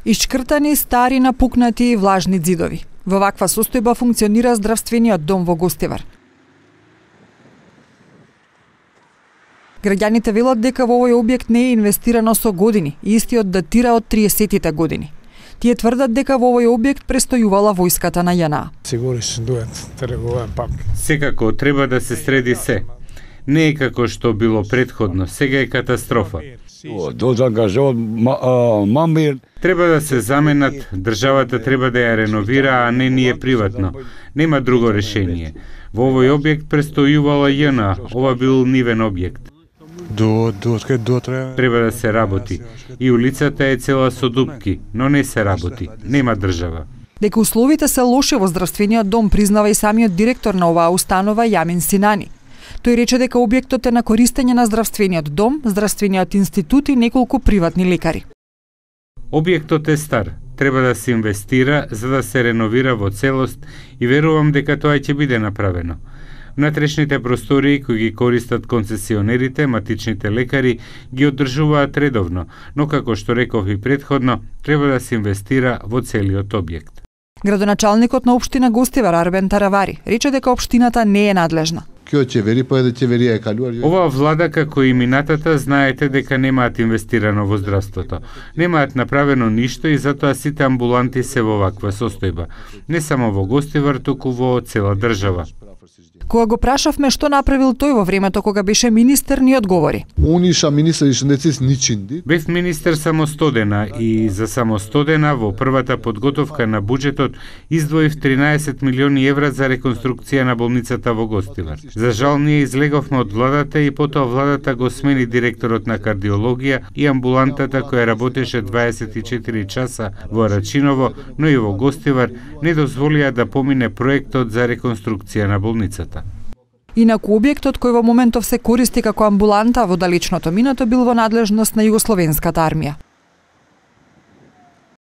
Ишчкртани, стари, напукнати и влажни ѕидови. Во ваква состојба функционира здравствениот дом во Гостивар. Граѓаните велат дека во овој објект не е инвестирано со години и истиот датира од 30-тите години. Тие тврдат дека во овој објект престојувала војската на ЈНА. Секако треба да се среди се. Не е како што било претходно, сега е катастрофа. Треба да се заменат, државата треба да ја реновира, а не ние приватно. Нема друго решение. Во овој објект престојувала ЈНА, ова бил нивен објект. Треба да се работи. И улицата е цела со дупки, но не се работи. Нема држава. Дека условите се лоши во здравствениот дом, признава и самиот директор на оваа установа Јамин Синани. Тој рече дека објектот е на користење на здравствениот дом, здравствениот институт и неколку приватни лекари. Објектот е стар, треба да се инвестира за да се реновира во целост и верувам дека тоа ќе биде направено. Внатрешните простории кои ги користат концесионерите, матичните лекари, ги одржуваат редовно, но како што реков и претходно, треба да се инвестира во целиот објект. Градоначалникот на општина Гостивар Арбен Таравари рече дека општината не е надлежна. Оваа влада, како и минатата, знаете дека немаат инвестирано во здравството. Немаат направено ништо и затоа сите амбуланти се во ваква состојба. Не само во Гостивар, туку во цела држава. Кога го прашавме што направил тој во времето кога беше министер, ни одговори. Бев министер само 100 дена и за само 100 дена во првата подготовка на буџетот издвоив 13 милиони евра за реконструкција на болницата во Гостивар. За жал ние излеговме од владата и потоа владата го смени директорот на кардиологија и амбулантата која работеше 24 часа во Рачиново, но и во Гостивар не дозволија да помине проектот за реконструкција на болницата. Инаку објектот кој во моментов се користи како амбуланта во далечното минато бил во надлежност на Југословенската армија.